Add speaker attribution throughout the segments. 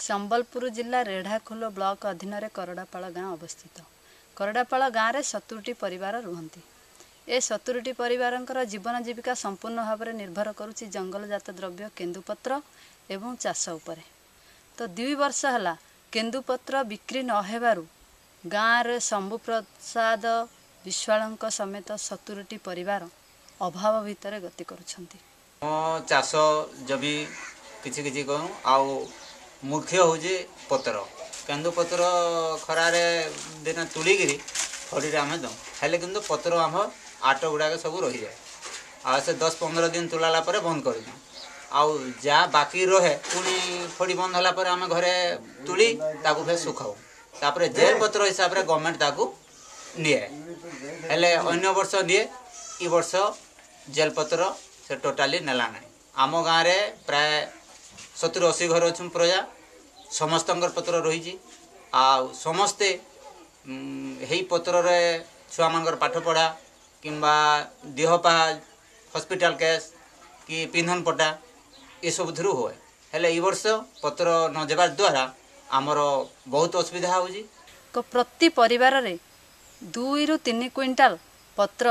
Speaker 1: ସମ୍ବଲପୁର ଜିଲ୍ଲା ରେଢ଼ାଖୋଲ ବ୍ଲକ ଅଧୀନରେ କରଡ଼ାପାଳ ଗାଁ ଅବସ୍ଥିତ। କରଡ଼ାପାଳ ଗାଁରେ 70ଟି ପରିବାର ରୁହନ୍ତି। ଏ 70ଟି ପରିବାରଙ୍କର ଜୀବନ ଜୀବିକା ସମ୍ପୂର୍ଣ୍ଣ ଭାବରେ ନିର୍ଭର କରୁଛି ଜଙ୍ଗଲଜାତ ଦ୍ରବ୍ୟ କେନ୍ଦୁପତ୍ର ଏବଂ ଚାଷ ଉପରେ। ତ 2 ବର୍ଷ ହେଲା କେନ୍ଦୁପତ୍ର ବିକ୍ରି ନ ହେବାରୁ ଗାଁରେ ଶମ୍ଭୁ ପ୍ରସାଦ ବିଶ୍ୱାଳଙ୍କ ସମେତ 70ଟି ପରିବାର ଅଭାବ ଭିତରେ ଗତି କରୁଛନ୍ତି।
Speaker 2: ମୋ ଚାଷ ଜମି କିଛି କିଛି କରୁ, ଆଉ ମୁଖ୍ୟ ହେଉଛି ପତ୍ର, କେନ୍ଦୁପତ୍ର ଖରାରେ ଦିନେ ତୁଳିକିରି ଖଡ଼ିରେ ଆମେ ଦେଉ, ହେଲେ କିନ୍ତୁ ପତ୍ର ଆମ ଆଟ ଗୁଡ଼ାକ ସବୁ ରହିଯାଏ। ଆଉ ସେ 10-15 ଦିନ ତୁଲାଲା ପରେ ବନ୍ଦ କରିଦିଉ, ଆଉ ଯାହା ବାକି ରହେ ପୁଣି ଖଡ଼ି ବନ୍ଦ ହେଲା ପରେ ଆମେ ଘରେ ତୁଳି ତାକୁ ଫେର ଶୁଖାଉ। ତାପରେ ଜେଲ୍ ପତ୍ର ହିସାବରେ ଗଭର୍ଣ୍ଣମେଣ୍ଟ ତାକୁ ନିଏ, ହେଲେ ଅନ୍ୟ ବର୍ଷ ନିଏ, ଇ ବର୍ଷ ଜେଲ୍ ପତ୍ର ସେ ଟୋଟାଲି ନେଲା ନାହିଁ। ଆମ ଗାଁରେ ପ୍ରାୟ 70-80 ଘର ଅଛୁ ପ୍ରଜା, ସମସ୍ତଙ୍କର ପତ୍ର ରହିଛି। ଆଉ ସମସ୍ତେ ହେଇ ପତ୍ରରେ ଛୁଆମାନଙ୍କର ପାଠ ପଢ଼ା କିମ୍ବା ଦେହ ପା ହସ୍ପିଟାଲ କେସ୍ କି ପିନ୍ଧନ ପଟା ଏସବୁଥିରୁ ହୁଏ। ହେଲେ ଏଇ ବର୍ଷ ପତ୍ର ନ ଦେବା ଦ୍ୱାରା ଆମର ବହୁତ ଅସୁବିଧା ହେଉଛି।
Speaker 1: ପ୍ରତି ପରିବାରରେ 2ରୁ 3 କୁଇଣ୍ଟାଲ ପତ୍ର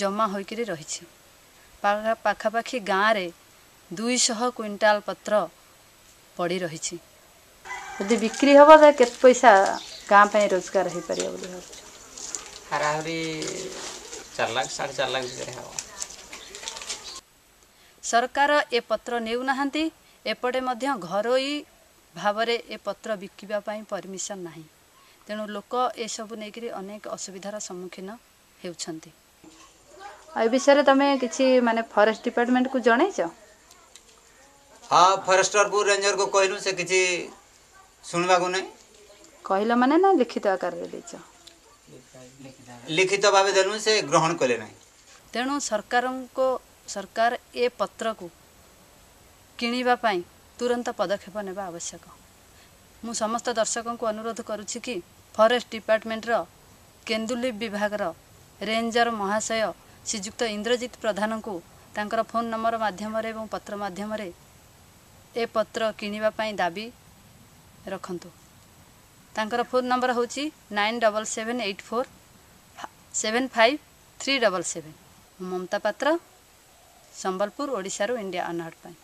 Speaker 1: ଜମା ହୋଇକରି ରହିଛି। ପାଖାପାଖି ଗାଁରେ 200 କୁଇଣ୍ଟାଲ ପତ୍ର ପଡ଼ି ରହିଛି। ଯଦି ବିକ୍ରି ହେବ ତାହେଲେ କେତେ ପଇସା ଗାଁ ପାଇଁ ରୋଜଗାର ହେଇପାରିବ ବୋଲି ଭାବୁଛ?
Speaker 3: ହାରାହାରି 4 ଲାଖ 4.5 ଲାଖ ଭିତରେ ହେବ।
Speaker 1: ସରକାର ଏ ପତ୍ର ନେଉନାହାନ୍ତି, ଏପଟେ ମଧ୍ୟ ଘରୋଇ ଭାବରେ ଏ ପତ୍ର ବିକିବା ପାଇଁ ପରମିସନ୍ ନାହିଁ। ତେଣୁ ଲୋକ ଏସବୁ ନେଇକରି ଅନେକ ଅସୁବିଧାର ସମ୍ମୁଖୀନ ହେଉଛନ୍ତି। ଆଉ ଏ ବିଷୟରେ ତମେ କିଛି ମାନେ ଫରେଷ୍ଟ ଡିପାର୍ଟମେଣ୍ଟକୁ ଜଣେଇଛ?
Speaker 2: ହଁ, ଫରେଷ୍ଟରକୁ ରେଞ୍ଜରକୁ କହିଲୁ, ସେ କିଛି ଶୁଣିବାକୁ ନାହିଁ।
Speaker 1: କହିଲ ମାନେ ନା ଲିଖିତ ଆକାରରେ ଦେଇଛ?
Speaker 2: ଲିଖିତ ଭାବେ ଦେଲୁ, ସେ ଗ୍ରହଣ କଲେ ନାହିଁ।
Speaker 1: ତେଣୁ ସରକାର ଏ ପତ୍ରକୁ କିଣିବା ପାଇଁ ତୁରନ୍ତ ପଦକ୍ଷେପ ନେବା ଆବଶ୍ୟକ। ମୁଁ ସମସ୍ତ ଦର୍ଶକଙ୍କୁ ଅନୁରୋଧ କରୁଛି କି ଫରେଷ୍ଟ ଡିପାର୍ଟମେଣ୍ଟର କେନ୍ଦୁଲିପ୍ ବିଭାଗର ରେଞ୍ଜର ମହାଶୟ ଶ୍ରୀଯୁକ୍ତ ଇନ୍ଦ୍ରଜିତ ପ୍ରଧାନଙ୍କୁ ତାଙ୍କର ଫୋନ୍ ନମ୍ବର ମାଧ୍ୟମରେ ଏବଂ ପତ୍ର ମାଧ୍ୟମରେ ଏ ପତ୍ର କିଣିବା ପାଇଁ ଦାବି ରଖନ୍ତୁ। ତାଙ୍କର ଫୋନ୍ ନମ୍ବର ହେଉଛି 9778475377। ମୁଁ ମମତା ପାତ୍ର, ସମ୍ବଲପୁର, ଓଡ଼ିଶାରୁ ଇଣ୍ଡିଆ ଅନହର୍ଡ ପାଇଁ।